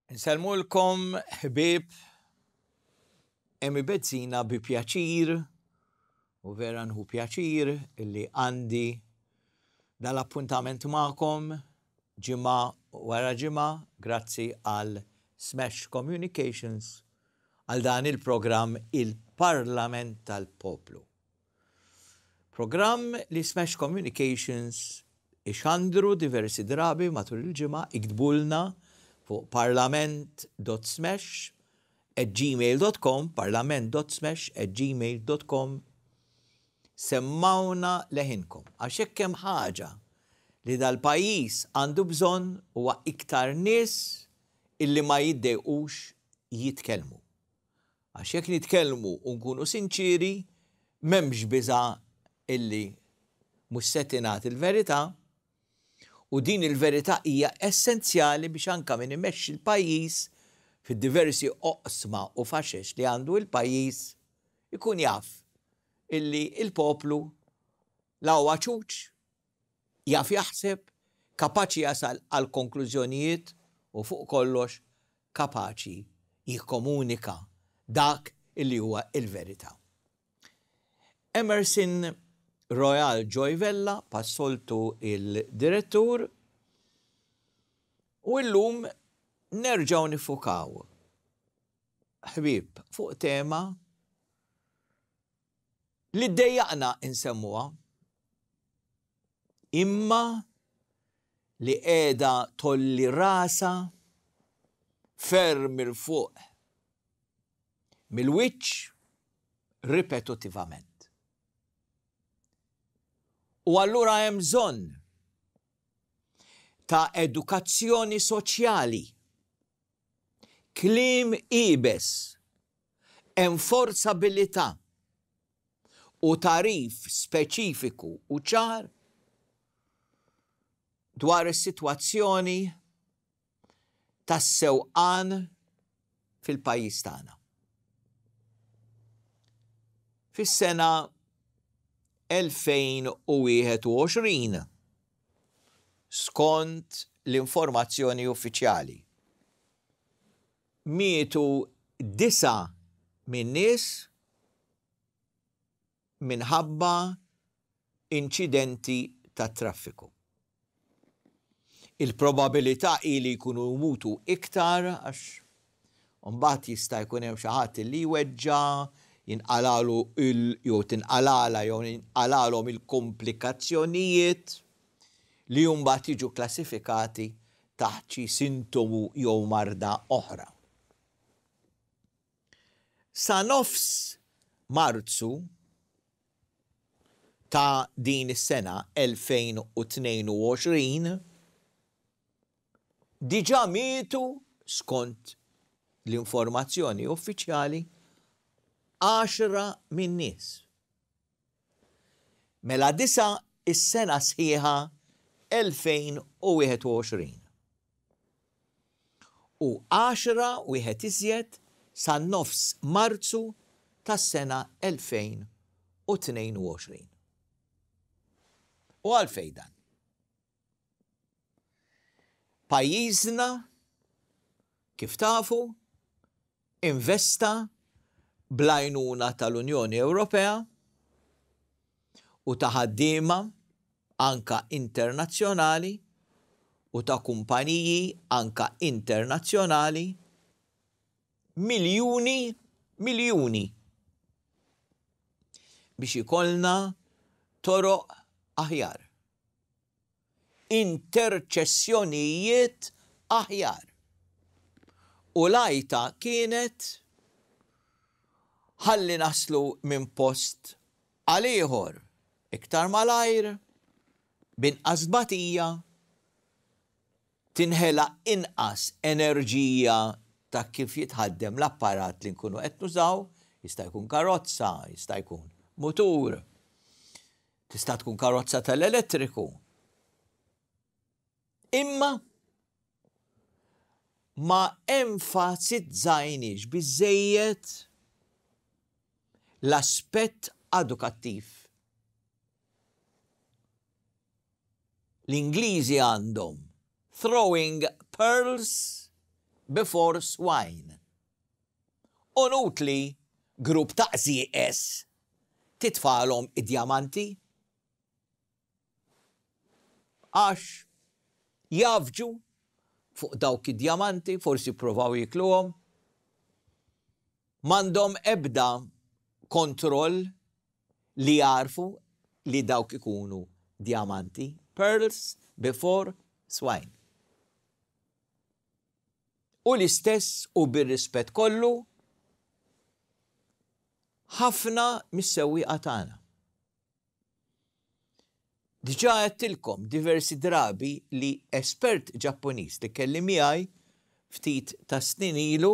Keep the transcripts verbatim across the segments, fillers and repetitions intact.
Insellmulkom ħbieb, Emi Bezzina bi pjaċir u vera nħu pjaċir illi għandi dal-appuntament magħkom ġimgħa wara ġimgħa grazzi għal Smash Communications għal dan il-programm Il-Parlament tal-Poplu. Programm li Smash Communications ixandru diversi drabi matul il-ġimgħa. Iktbulna fuq parlament dot smash at gmail dot com, parlament dot smash at gmail dot com, semmawna leħinkom. Għax hekk hemm ħaġa li dal-pajjiż għandu bżonn huwa iktar nies illi ma jiddejqux jitkellmu. Għax jekk nitkellmu u nkunu sinċiri, m'hemmx biża illi mhux se tingħad il-verità, u din il-verità hija essenzjali biex anka min imexxi l-pajjiż fid-diversi oqsma u faxex li għandu il-pajjiż ikun jaf illi il-poplu la huwa ċuċ, jaf jaħseb, kapaċi jasal għal konklużjonijiet u fuq kollox kapaċi jikkomunika dak illi huwa il-verità. Emerson Royal Joy Vella, bħas-soltu il-direttur, u illum nerġaw niffukaw, ħbieb, fuq tema li ddejjaqna insemmuha, imma li qiegħda tgħolli rasha ferm 'il fuq mill-wiċċ ripetitivament. U allura hemm bżonn ta' edukazzjoni soċjali, kliem iebes, enforzabilità u tagħrif speċifiku u ċar dwar is-sitwazzjoni tas-sewqan fil-pajjiż tagħna. Fis-sena elfejn u wieħed u għoxrin, skont l-informazzjoni uffiċjali, mietu disgħa minn nies minħabba inċidenti ta' traffiku. Il-probabilità hi li jkunu mutu iktar għax mbagħad jista' jkun hemm xi ħadd li jweġġa', jinqalalu il jew tinqalala jew jinqalalhom il-komplikazzjonijiet li mbagħad jiġu klassifikati taħt xi sintomu jew marda oħra. Sa nofs Marzu ta' din is-sena elfejn u tnejn u għoxrin diġà mietu, skont l-informazzjoni uffiċjali, għaxra minn nies. Mela disgħa is-sena sħiħa elfejn u wieħed u għoxrin. U għaxra, wieħed iżjed, sa nofs Marzu tas-sena elfejn u tnejn u għoxrin. U għalfejn dan? Pajjiżna, kif tafu, investa bl-għajnuna tal-Unjoni Ewropea u ta' ħaddiema anka internazzjonali u ta' kumpaniji anka internazzjonali miljuni miljuni biex ikollna toroq aħjar, interċessjonijiet aħjar. U l-għajta kienet ħalli naslu minn post għal ieħor iktar malajr, b'inqas batija, tinħela inqas enerġija ta' kif jitħaddem l-apparat li nkunu qed nużaw, jista' jkun karozza, jista' jkun mutur, tista' tkun karozza tal-elettriku. Imma ma enfasizzajniex biżejjed l-aspett edukattiv. L-Ingliżi għandhom "throwing pearls before swine. Inutli grupp ta' qżieqeż titfagħlhom id-djamanti. Għax jgħaffġu fuq dawk id-djamanti, forsi provaw jikluhom. M'għandhom ebda kontroll li jarfu li dawk ikunu djamanti. Pearls before swine. U l-istess u bir-rispett kollu ħafna mis-sewwieqa tagħna. Diġà għedtilkom diversi drabi li espert Ġappuniż li kelli miegħi ftit ta' snin ilu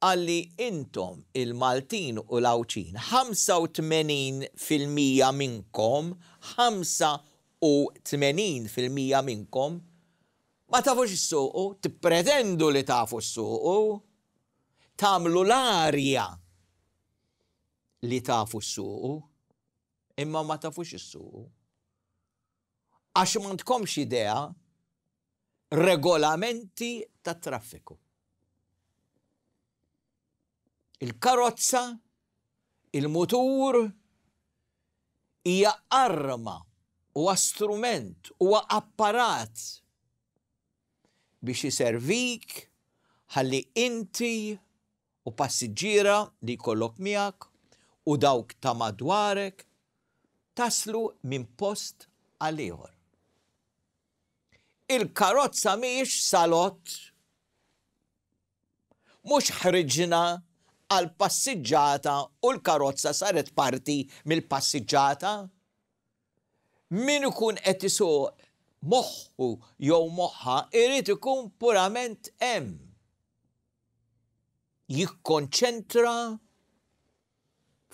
qalli intom il-Maltin u l-Għawdxin, ħamsa u tmenin fil-mija minnkom, ħamsa u tmenin fil-mija minnkom, ma tafux issuqu, tippretendu li tafu ssuqu, tagħmlu l-arja li tafu ssuqu, imma ma tafux issuqu. Għax m'għandkomx idea regolamenti ta' traffiku. Il-karozza, il-mutur, hija arma, huwa strument, huwa apparat biex iservik ħalli inti u passiġġiera li jkollok miegħek u dawk ta' madwarek taslu minn post għal ieħor. Il-karozza mhijiex salott, mhux ħriġna għal passiġġata u l-karozza saret parti mill-passiġġata. Min ikun qed isuq, moħħu jew moħħa irid ikun purament hemm. Jikkonċentra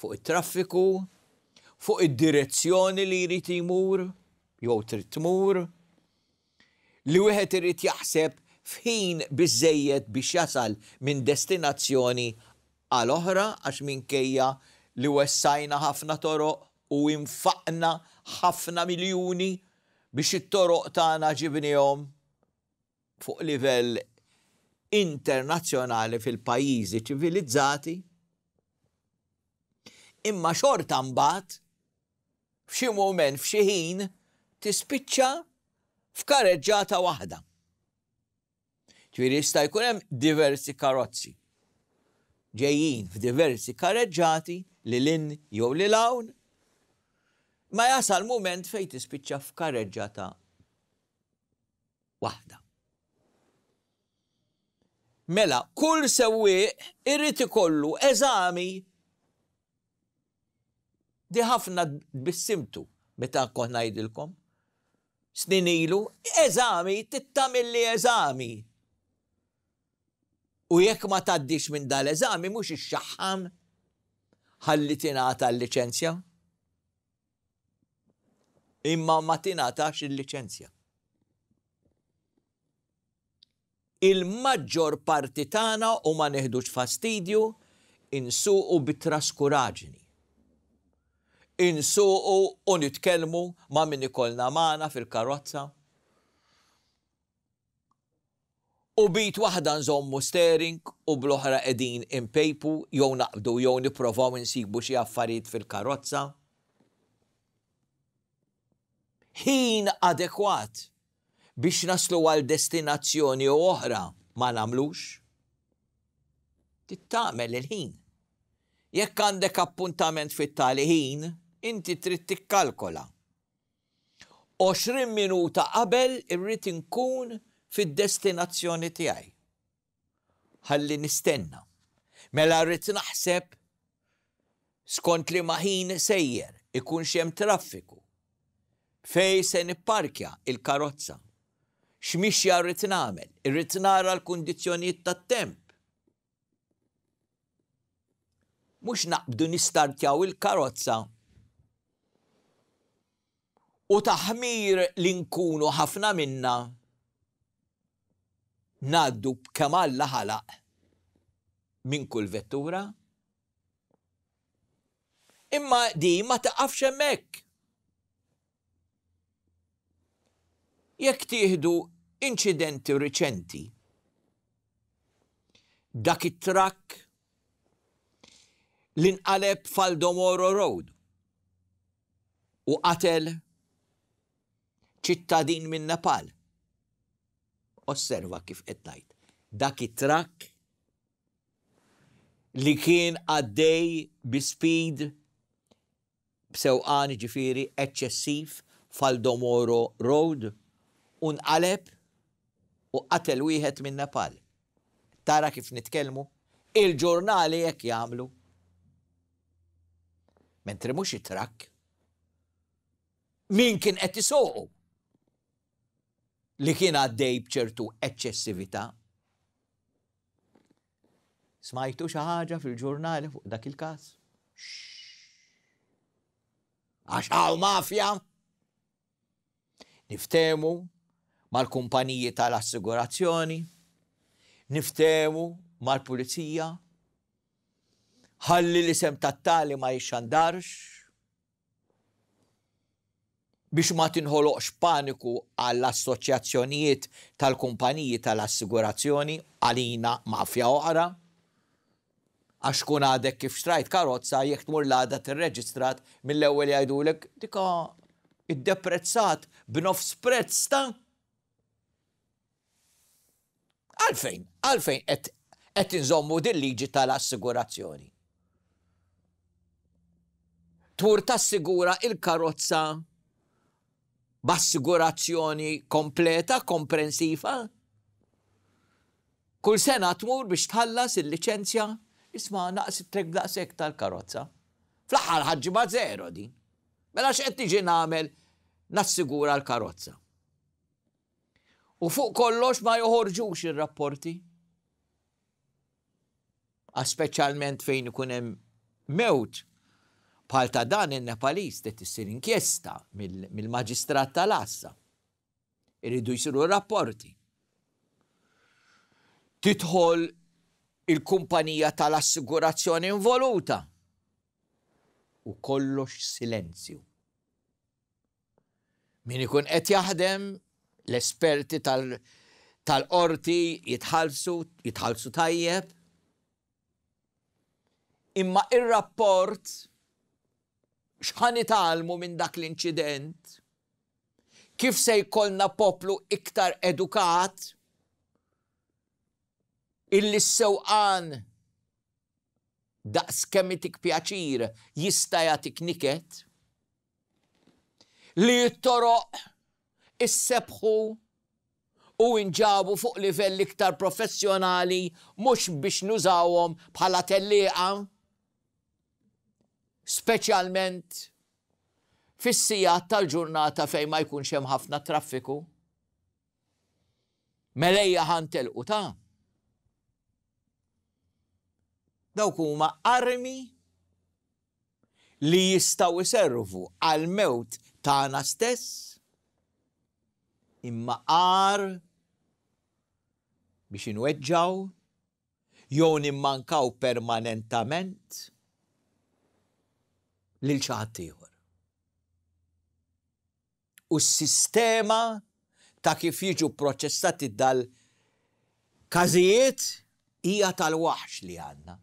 fuq it-traffiku, fuq id-direzzjoni li jrid jmur jew trid tmur, li wieħed irid jaħseb f'ħin biżejjed biex jasal minn destinazzjoni għal oħra, għax minkejja li wessajna ħafna toroq u infaqna ħafna miljuni biex it-toroq tagħna ġibnihom fuq livell internazzjonali fil-pajjiżi ċivilizzati, imma xorta mbagħad f'xi mument, f'xi ħin, tispiċċa f'kareġġata waħda. Ġifieri jista' jkun hemm diversi karozzi ġejjin f'diversi kareġġati lil hinn jew lil hawn, ma jasal mument fejn tispiċċa f'kareġġata waħda. Mela, kull sewwieq irid ikollu eżami. Di ħafna tbissimtu meta kont ngħidilkom. Snin ilu, eżami, tittamilli eżami. U jekk ma tgħaddix minn dal-eżami, mhux ixxaħħam ħalli tingħata l-liċenzja. Imma ma tingħatax il-liċenzja. Il-maġġor parti tagħna, u ma neħdux fastidju, insuqu bit-traskuraġni. Insuqu u nitkellmu ma' min ikollna magħna fil-karozza. U b'id waħda nżommu steering u bl-oħra qegħdin impejpu jew naqbdu jew nipprovaw insibu xi affarijiet fil-karozza. Ħin adekwat biex naslu għal destinazzjoni u oħra ma nagħmlux. Tittamel il-ħin. Jekk għandek appuntament fit-tali ħin, inti trid tikkalkola. għoxrin minuta qabel irrid inkun fid-destinazzjoni tiegħi. Ħalli nistenna. Mela rrid naħseb skont li ħin sejjer, ikun hemm traffiku. Fej se nipparkja il-karozza. X'mixja rrid nagħmel? Irrid nara l-kundizzjonijiet tat-temp. Mhux naqbdu nistartjaw il-karozza u taħmir li nkunu ħafna minna ngħaddu b'kemm Alla ħalaq minn kull vettura. Imma di ma taqafx hemmhekk. Jekk tieħdu inċidenti riċenti Dak it-trakk li nqaleb f'Aldo Moro Road u qatel ċittadin minn Nepal. Osserva kif qed ngħid. Dak it-trakk li kien għaddej bi speed, b'sewqan ġifieri eċċessiv f'Aldo Moro Road u nqaleb u qatel wieħed minn Nepal. Tara kif nitkellmu? Il-ġurnali hekk jagħmlu. Mentri mhux it-trakk. Min kien qed isuqu li kien għaddej b'ċertu eċċessività. Smajtu xi ħaġa fil-ġurnali fuq dak il-każ? Għax hawn mafja. Niftehmu mal-kumpaniji tal-assigurazzjoni, niftehmu mal-pulizija, ħalli l-isem tat-tali ma jixxandarx, biex ma tinħoloqx paniku għall-assoċjazzjonijiet tal-kumpaniji tal-assigurazzjoni, għalina mafja oħra. Għax kun għadek kif xtrajt karozza, jekk tmur l-għada tirreġistrat, mill-ewwel jgħidulek dika iddeprezzat b'nofs prezz ta' Għalfejn, għalfejn qed inżommu din liġi tal-assigurazzjoni. Tmur tassigura il-karozza b'assigurazzjoni kompleta, komprensiva. Kull sena tmur biex tħallas il-liċenzja, isma' naqs it-trek daqshekk tal-karozza. Fl-aħħar ħaġġiba zero din. Mela x'qed tiġi nagħmel nassigura l-karozza. U fuq kollox ma joħorġux ir-rapporti. Speċjalment fejn ikun hemm mewt bħal ta' dan in-Nepaliż qed issir inkjesta mill-maġistrat tal-Għassa. Iridu jsiru rapporti. Tidħol il-kumpanija tal-assigurazzjoni involuta. U kollox silenzju. Min ikun qed jaħdem, l-esperti tal-qorti jitħallsu, jitħallsu tajjeb. Imma ir-rapport x'ħa nitgħallmu minn dak l-inċident? Kif se jkollna poplu iktar edukat illi s-sewqan daqs kemm itik pjaċir jista' jagħtik niket, li t-toroq issebħu u inġabu fuq livell iktar professjonali mhux biex nużawhom bħala tellieqa, speċjalment fis-sigħat tal-ġurnata fejn ma jkunx hemm ħafna traffiku. Mela ejja ħa ntelqu ta' dawk huma armi li jistgħu jservu għal-mewt tagħna stess, imma għar biex inweġġaw jew nimmankaw permanentament lil xi ħadd ieħor. U s-sistema ta' kif jiġu proċessati dal-każijiet hija tal-waħx li għandna.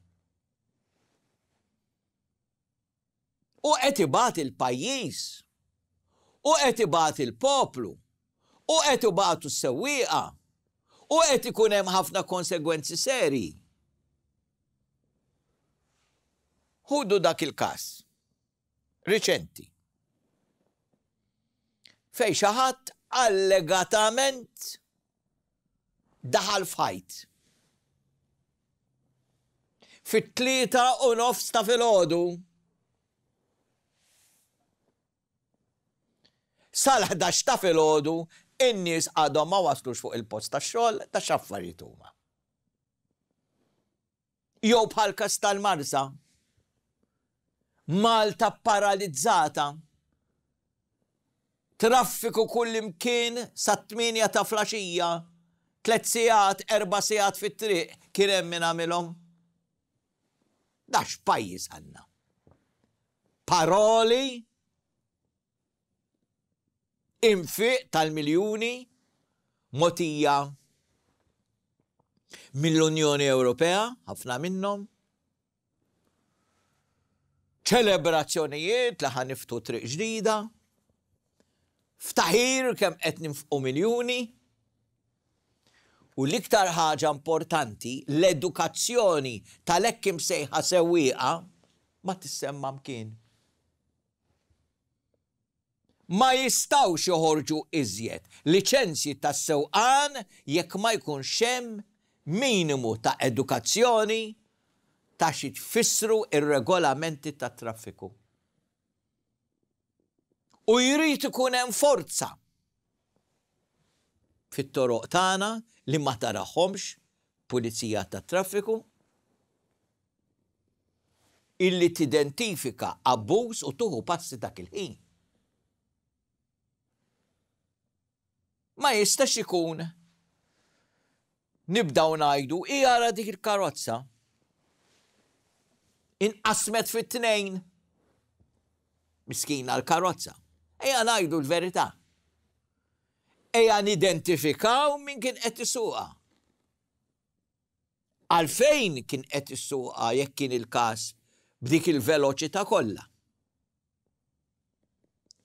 U qed ibati l-pajjiż, u qed ibati l-poplu, u qed ibatu s-sewwieqa, u qed ikun hemm ħafna konsegwenzi serji. Ħudu dak il-każ riċenti fejn xi ħadd allegatament daħal f'ħajt. Fit-tlieta u nofs ta' filgħodu. Sal-ħdax ta' filgħodu in-nies għadhom ma waslux fuq il-post tax-xogħol ta' x'affarijiet huma. Jew bħal każ tal-Marsa. Malta paralizzata. Traffiku kullimkien sat-tmienja ta' flaxija, tliet sigħat, erba' sigħat fit-triq kien hemm min għamilhom. Da x'pajjiż għandna? Paroli, infiq tal-miljuni, mogħtija Mill-Unjoni Ewropea, ħafna minnhom. Ċelebrazzjonijiet li ħa niftħu triq ġdida. Ftaħir kemm qed ninfqu miljuni. U l-iktar ħaġa importanti, l-edukazzjoni tal-hekk imsejħa sewwieqa ma tissemma mkien. Ma jistgħux joħorġu iżjed liċenzji tas-sewqan jekk ma jkunx hemm minimu ta' edukazzjoni ta' xi tfissru ir-regolamenti tat-traffiku. U jrid ikun hemm forza fit-toroq tagħna li ma tarahomx, pulizija tat-traffiku illi tidentifika abbuż u tuħu passi dak il-ħin. Ma jistax ikun nibdaw ngħidu ijara dik il-karozza inqasmet fit-tnejn. Miskina l-karozza. Ejja ngħidu l-verità. Ejja nidentifikaw min kien qed isuqha. Għalfejn kien qed isuqha jekk kien il-każ b'dik il-veloċità kollha.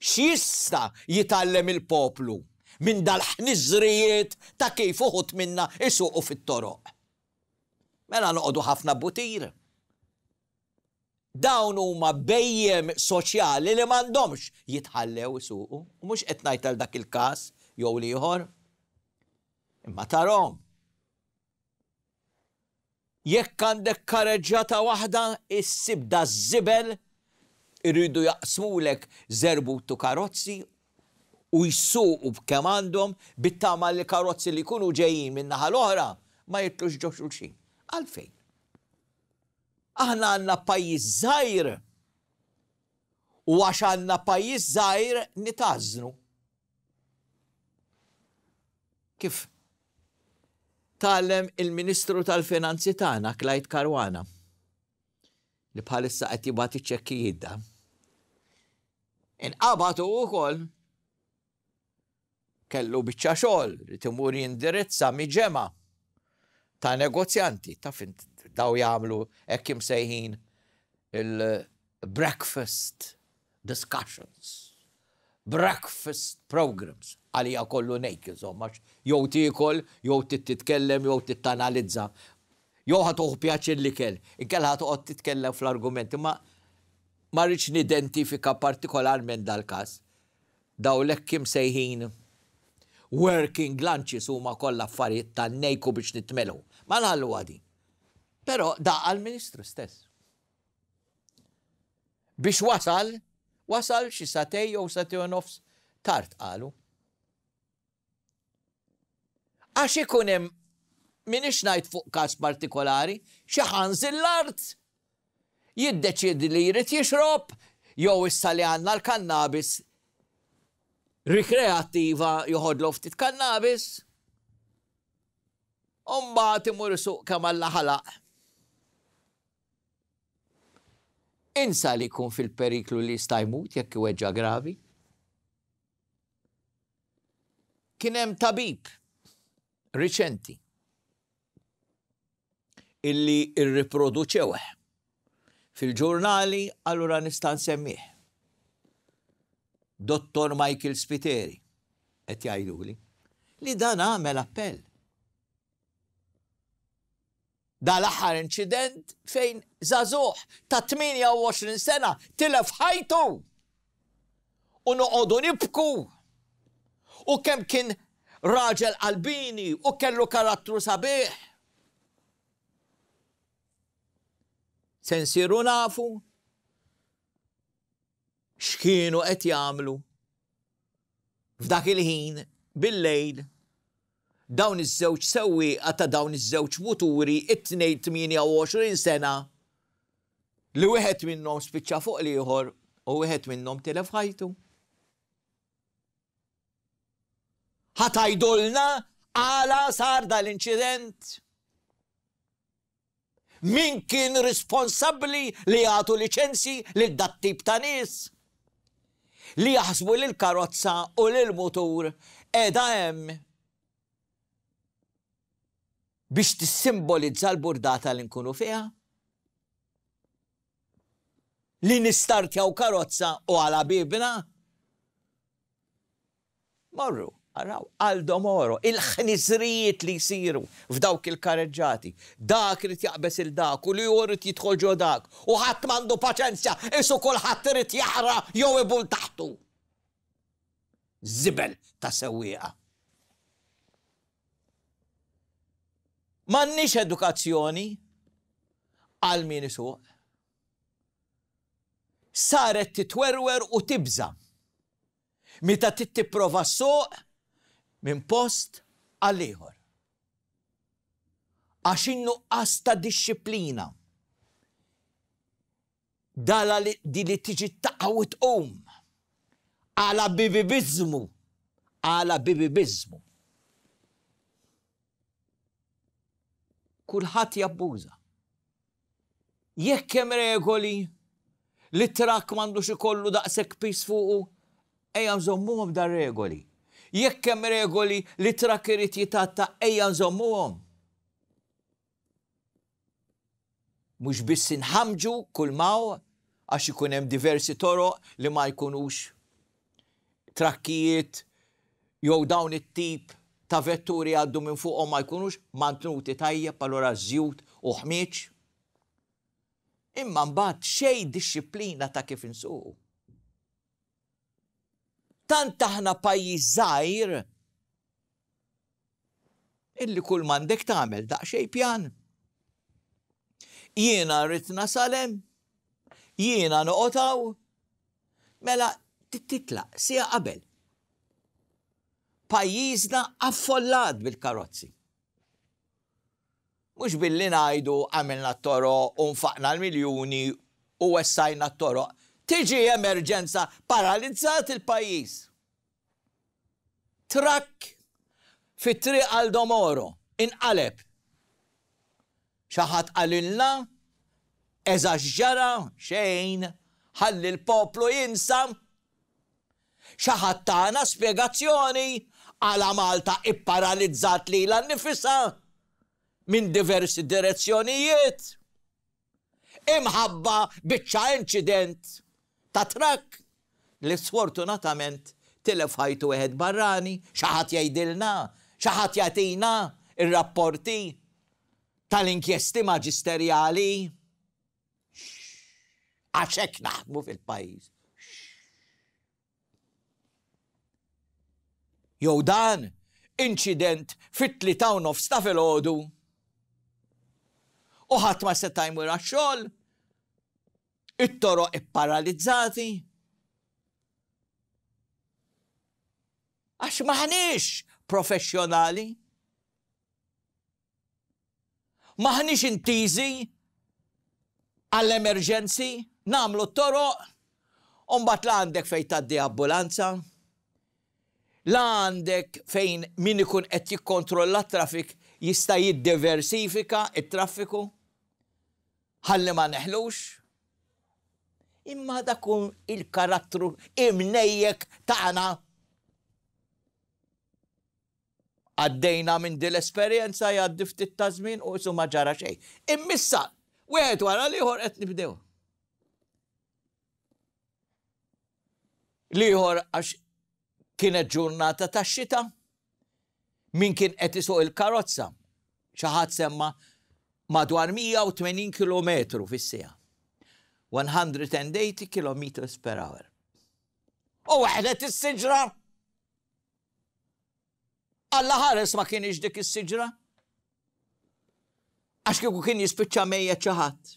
X'jista' jitgħallem il-poplu minn dal-ħniżrijiet ta' kif uħud minna isuqu fit-toroq? Mela noqogħdu ħafna butir. Dawn huma bejjem soċjali li m'għandhomx jitħallew isuqu. U mhux qed ngħid għal dak il-każ jew l-ieħor. Imma tarhom. Jekk għandek kareġġata waħda, issib da żibel iridu jaqsmulek żerbutu karozzi u jsuqu b'kemm għandhom bit-tama li karozzi li jkunu ġejjin minn naħa l-oħra ma jitlux ġo xulxin. Għalfejn? Aħna għandna pajjiż żgħir u għax għandna pajjiż żgħir nitażnu. Kif tgħallem il-Ministru tal-Finanzi tagħna Clyde Caruana li bħalissa qed jibgħat iċ-ċekkijiet da. Inqabad hu wkoll kellu biċċa xogħol li timur jindirizza miġemgħa ta' negozjanti, ta' fint daw jagħmlu hekk imsejħin il-breakfast discussions, breakfast programs, għalija kollu nejk, insomma, jew tiekol, jew titkellem, jew tittanalizza, jew ħa tieħu pjaċir l-ikel, inkella ħa toqgħod titkellem fl-argumenti, ma ma rridx nidentifika partikolarment dal-każ. Daw l-hekk imsejħin working lunches huma kollha affarijiet tan-nejku biex nitmelu. Ma nħallu għadi. Però da għal-Ministru stess. Biex wasal, wasal xi satej jew satej u nofs tard qalu. Għax ikun hemm, m'iniex ngħid fuq każ partikolari, xi ħanżil l-art jiddeċiedi li jrid jixrob, jew issa li għandna l-kannabis rikreattiva joħodlu ftit kannabis, u mbagħad imur isuq kemm Alla ħalaq. Insa li jkun fil-periklu li jista' jmut jekk iweġġa' gravi. Kien hemm tabib riċenti illi rriproduċewh fil-ġurnali, allura nista' nsemmih. Dottor Michael Spiteri, qed jgħiduli, li dan għamel appell. Dal-aħħar inċident fejn żagħżugħ ta' tmienja u għoxrin sena tilef ħajtu u noqogħdu nibku. U kemm kien raġel qalbini u kellu karattru sabiħ. Se nsiru nafu x'kienu qed jagħmlu f'dak il-ħin bil-lejl dawn iż-żewġ sewwieqa ta' dawn iż-żewġ muturi it-tnejn tmienja u għoxrin sena li wieħed minnhom spiċċa fuq l-ieħor u wieħed minnhom tilef ħajtu. Ħa tgħidulna għala sar dal-inċident? Min kien responsabbli li jagħtu liċenzji lil dat tip ta' nies? Li jaħsbu li l-karozza u li l-mutur qiegħda hemm Biex tissimbolizza l-burdata li nkunu fiha? Li nistartjaw karozza u għala bibna? Morru, araw, Aldo Moro, il-ħniżrijiet li jsiru f'dawk il-kareġġati. Dak irid jaqbeż il dak u li irid jidħol ġo dak u ħadd m'għandu paċenzja, isu kulħadd irid jaħra jew ibul taħtu. Żibel ta' sewwieqa. M'għandniex edukazzjoni għal min isuq. Saret titwerwer u tibża' meta titprova ssuq minn post għal ieħor. Għax in-nuqqas ta' dixxiplina. Dala li di li tiġi taqa' u tqum. Għala bibibiżmu. Għala bibibiżmu. Kulħadd jabbuża. Jekk hemm regoli li trakk m'għandux ikollu daqshekk pis fuqu, ejja nżommuhom dar regoli. Jekk hemm regoli li trakk irid jitatta, ejja nżommuhom. Mhux biss inħamġu kull maw għax ikun hemm diversi toroq li ma jkunux trakkijiet jew dawn it-tip ta' vetturi għaddu minn fuqhom ma jkunux mantnuti tajjeb, allura żjut u ħmieġ. Imma mbagħad xejn dixxiplina ta' kif insuqu. Tant aħna pajjiż żgħir illi kull m'għandek tagħmel daqsxejn pjan. Jiena rrid nasal hemm, jiena noqgħod hawn, mela titlaq siegħa qabel. Pajjiżna affollat bil-karozzi. Mhux billi ngħidu għamilna t-toroq u nfaqna l-miljuni u wessajna t-toroq. Tiġi emerġenza, paralizzat il-pajjiż. Trakk fit-triq Aldo Moro inqaleb. Xi ħadd qalilna eżatt x'ġara, xejn, ħalli l-poplu jinsa. Xi ħadd tagħna spjegazzjoni għala Malta ipparalizzat lilha nnifisha minn diversi direzzjonijiet. Imħabba biċċa inċident ta' trakk li sfortunatament tilef ħajtu wieħed barrani, xi ħadd jgħidilna, xi ħadd jagħtina ir-rapporti tal-inkjesti maġisterjali. Għax hekk naħdmu fil-pajjiż. Jew dan inċident fit-tlieta u nofs ta' filgħodu u ħadd ma seta' jmur għax-xogħol, it-toroq ipparalizzati. Għax m'aħniex professjonali. M'aħniex intiżi għall-emerġenzi, nagħmlu t-toroq, u mbagħad la għandek fejn tgħaddi ambulanza, la għandek fejn min ikun qed jikkontrolla t-traffic jista' jiddiversifika t-traffiku, ħalli ma neħlux. Imma dak hu il-karattru imnejjek tagħna. Għaddejna minn din l-esperjenza, jgħaddi ftit ta' żmien u isu ma ġara xejn. Immissa, wieħed wara l-ieħor qed nibdew. L-ieħor għax kienet ġurnata ta' xita, min kien qed isuq il-karozza, xi ħadd semma madwar mija u tmenin kilometru fis-siegħa. one hundred and eighty kilometers per hour. U weħlet is-siġra. Alla ħares ma kienx dik is-siġra. Għax kieku kien jispiċċa mejjet xi ħadd.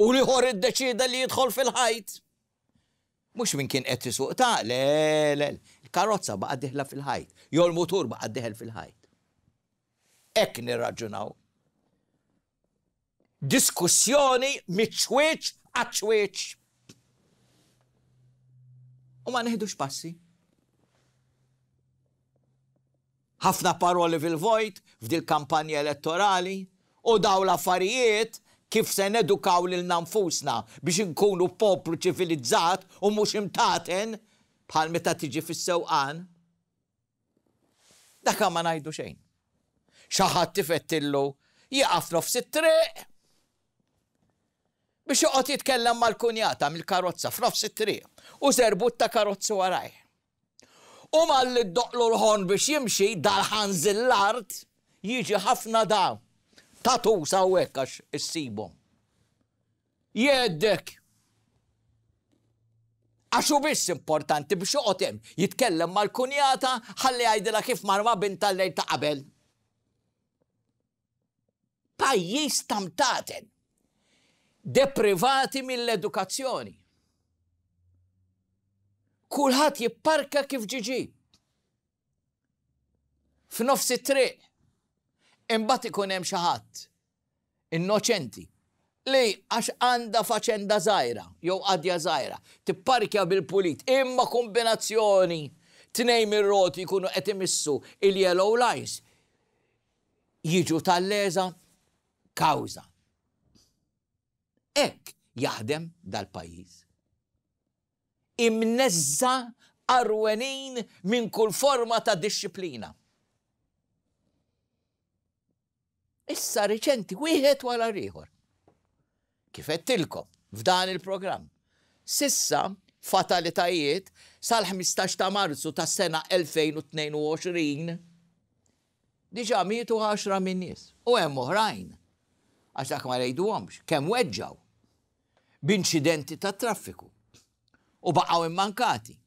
U l-ieħor iddeċieda li jidħol fil-ħajt. Mhux min kien qed isuq ta', le, le, il-karozza baqa' diħla fil-ħajt, jew l-mutur baqa' diħel fil-ħajt. Hekk nirraġunaw. Diskussjoni miċ-ċwieċ għaċ-ċwieċ. U ma neħdux passi. Ħafna paroli fil-vojt f'dil kampanja elettorali u daw l-affarijiet kif se nedukaw lilna nfusna biex inkunu poplu ċivilizzat u mhux imtaten bħal meta tiġi fis-sewqan. Dak ma ngħidu xejn. xi ħadd ifettillu jieqaf nofs it-triq biex joqgħod jitkellem mal-kunjata mill-karozza f'nofs it-triq u żerbut ta' karozzi warajh. U malli ddoqqlu l-ħorn biex jimxi dal-ħanżil l-art jiġi ħafna da tatus hawnhekk għax issibhom. Jgħeddek. Għax hu biss importanti biex joqgħod hemm jitkellem mal-kunjata ħalli jgħidilha kif mar ma' bintha l-lejl ta' qabel. Pajjiż ta' mtaten. Deprivati mill-edukazzjoni. Kulħadd jipparka kif ġiġi. F'nofs it-triq. Imbagħad ikun hemm xi ħadd innoċenti li għax għandha faċenda żgħira jew qadja żgħira, tipparkja bil-pulit, imma kombinazzjoni tnejn mir-roti jkunu qed imissu il-yellow lines jiġu tal-leża kawża. Hekk jaħdem dal-pajjiż. Imneżża għarwenin minn kull forma ta' dixxiplina. Issa riċenti wieħed wara l-ieħor. Kif għedtilkom f'dan il-programm. Sissa fatalitajiet sal-ħmistax ta' Marzu tas-sena elfejn u tnejn u għoxrin diġà mietu għaxra minn nies u hemm oħrajn għax dak ma ngħiduhomx kemm weġġgħu b'inċidenti tat-traffiku u baqgħu immankati.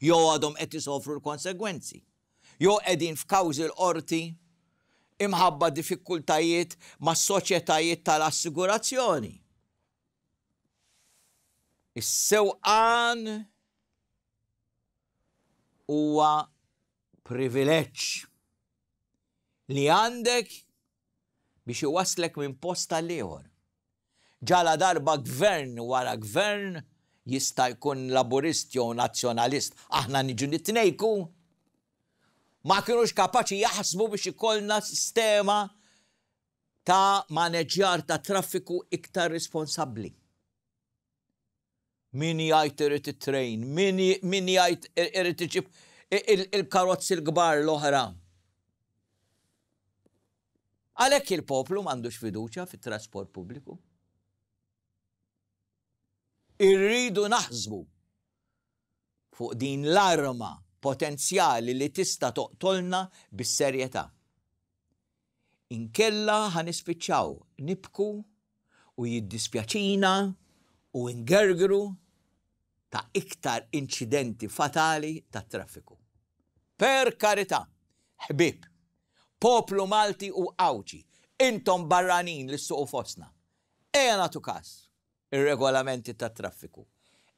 Jew għadhom qed isofru l-konsegwenzi, jew qegħdin f'kawżi l-qorti imħabba diffikultajiet mas-soċjetajiet tal-assigurazzjoni. Is-sewqan huwa privileġġ li għandek biex iwasslek minn post għal ieħor. Ġala darba gvern wara gvern jista' jkun laburist jew nazzjonalist, aħna niġu nitnejku, ma kinux kapaċi jaħsbu biex ikollna sistema ta' maneġġjar ta' traffiku iktar responsabbli. Min jgħid irid it-train, min j-, min jgħid irid iġib il-karozzi l-kbar l-oħra. Għalhekk il-poplu m'għandux fiduċja fit-trasport pubbliku. Irridu naħsbu fuq din l-arma potenzjali li tista' toqtolna bis-serjetà. Inkella ħanispiċċaw nibku u jiddispjaċina u ngergru ta' iktar inċidenti fatali ta' traffiku. Per karità, ħbieb, poplu Malti u Għawdxi, intom barranin li ssuqu fostna, ejja nagħtu każ ir-regolamenti tat traffiku.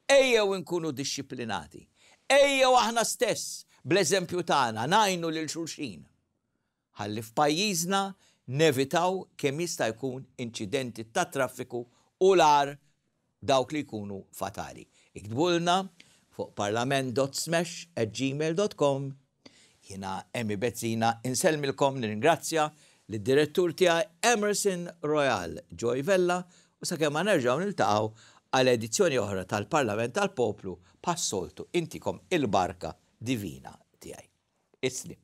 Ejjew inkunu dixxiplinati. Ejjew aħna stess bl-eżempju tagħna ngħinu lil xulxin. Ħalli f'pajjiżna nevitaw kemm jista' jkun inċidenti ta' traffiku u l-agħar dawk li jkunu fatali. Iktbulna fuq parlament dot smash at gmail dot com. Jiena Emmy Bezzina insellmilkom, nirringrazzja lid-direttur tiegħi Emerson Royal Joy Vella u sakemm ma nerġgħu niltaqgħu għal edizzjoni oħra tal-Parlament tal-Poplu, passoltu intikom il-barka divina tiegħi. Islim.